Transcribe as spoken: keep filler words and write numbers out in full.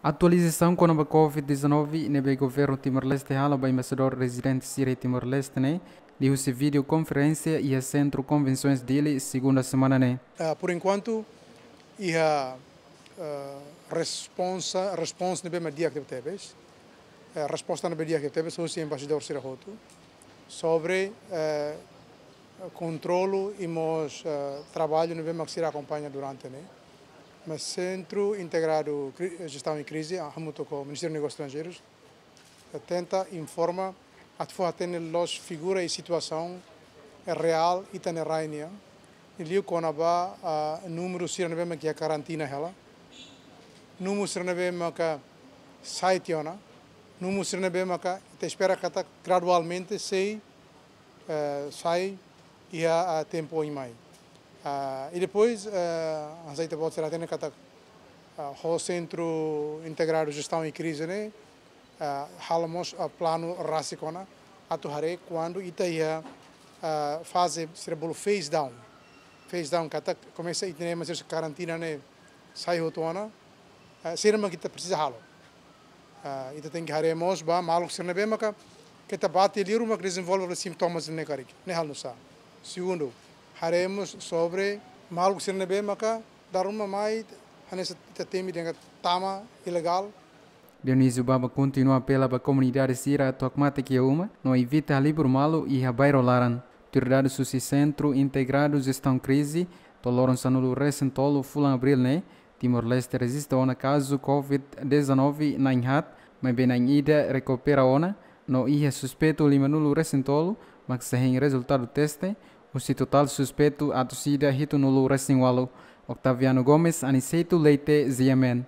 Atualizasaun kona-ba COVID dezanove ne'ebé governu Timor-Leste halo ba embaixadór rezidente sira iha Timor-Leste ne'e, liuhusi vídeo konferénsia iha Sentru Konvensoens Dili, segunda semana ne'e. Ah, por enquanto, iha, ah, responsa, responsa ne'ebé mak di'ak tebetebes. Eh, resposta ne'ebé di'ak tebetebes husi embaixadór sira hotu sobre, eh, kontrolu i mós, eh, traballu ne'ebé mak sira akompaña durante ne'e. Mas Sentru Integradu Kri-, Jestaun i Krize, ah, hamutuk ho Ministériu Negósius Estranjeirus, eh, tenta informa atu fó hatene loos figura i situasaun, eh, reál ita-nia rai nian. I liu kona-ba, ah, númeru sira ne'ebé mak iha karantina hela. Númeru sira ne'ebé maka sai tiha ona. Númeru sira ne'ebé maka ita espera katak gradualmente sei, eh, sai iha, ah, tempu oin mai. Ah, i depois, eh, hanesan ita-boot sira hatene katak, ah, ho Sentru Integradu Jestaun i Krize ne'e, ah, halo mós, ah, planu rasik ona atu haree kuandu ita iha, ah, faze sira bolu phase down. Phase down katak komesa ita-nia ema sira karantina ne'e sai hotu ona, ah, sira mak ita presiza halo. Ah, ita tenke haree mós ba maluk sira ne'ebé maka keta bati liur mak dezenvolve sintomas ne'e karik. Ne'e halo nu'usá. Segundu, haree mós sobre maluk sira ne'ebé maka dala ruma mai hanesan ita temi dehan tama ilegál. Dionísio Baba kontinua apela ba komunidade sira atu hakmatek iha uma, no evita halibur malu iha bairru laran. Autoridade husi Sentru Integradu Jestaun Krize, to'o loron sanulu-resin-tolu fulan Abríl ne'e, Timor-Leste rejista ona kazu COVID dezanove na'in haat, maibé na'in ida rekupera ona, no iha suspeitu limanulu-resin-tolu, mak sei hein rezultadu teste, husi totál suspeitu atus ida hitunulu-resin-ualu. Octaviano Gomes, Aniceto Leite, G M N.